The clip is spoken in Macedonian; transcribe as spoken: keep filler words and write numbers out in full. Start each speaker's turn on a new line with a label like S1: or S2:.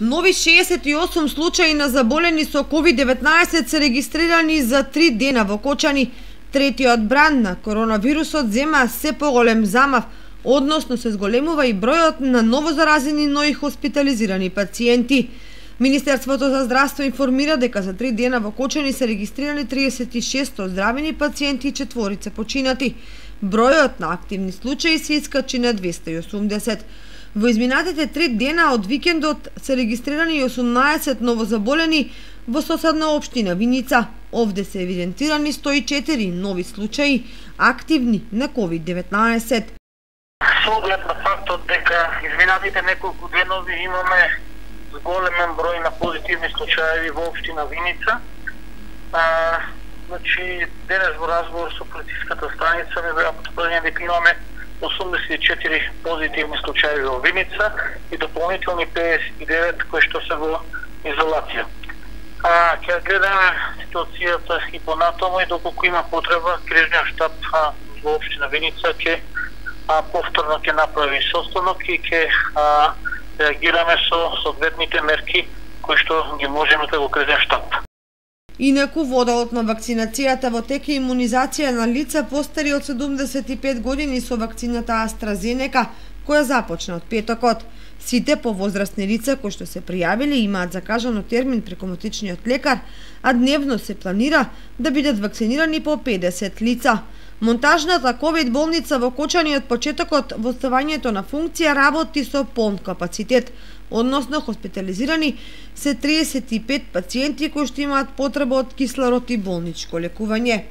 S1: Нови шеесет и осум случаи на заболени со ковид деветнаесет се регистрирани за три дена во Кочани. Третиот бран на коронавирусот зема се поголем замав, односно се зголемува и бројот на новозаразени, но и хоспитализирани пациенти. Министерството за здравство информира дека за три дена во Кочани се регистрирани триесет и шест оздравени пациенти и четворица починати. Бројот на активни случаи се искачи на двесте и осумдесет. Во изминатите три дена од викендот се регистрирани и осумнаесет новозаболени во соседна општина Виница. Овде се евидентирани сто и четири нови случаи активни на ковид деветнаесет.
S2: Со оглед на фактот дека изминатите неколку денови имаме зголемен број на позитивни случаи во општина Виница. А, значи, денес во разговор со полициската станица ми беа потврдени дека имаме осумдесет и четири позитивни случаи во Виница и дополнителни педесет и девет кои што се во изолација. А, ќе гледаме ситуацијата и понатаму и доколку има потреба, крижниот штаб а, во општина Виница ќе повторно ќе направи состанок и ќе реагираме со соодветните мерки кои што ги можеме да го крижниот штаб.
S1: Инаку во одделот на вакцинацијата во тек е имунизација на лица постари од седумдесет и пет години со вакцината AstraZeneca, која започна од петокот. Сите повозрастни лица кои што се пријавиле имаат закажано термин преку мотичниот лекар, а дневно се планира да бидат вакцинирани по педесет лица. Монтажната ковид болница во Кочани од почетокот во ставањето на функција работи со полн капацитет, односно хоспитализирани се триесет и пет пациенти кои што имаат потреба од кислород и болничко лекување.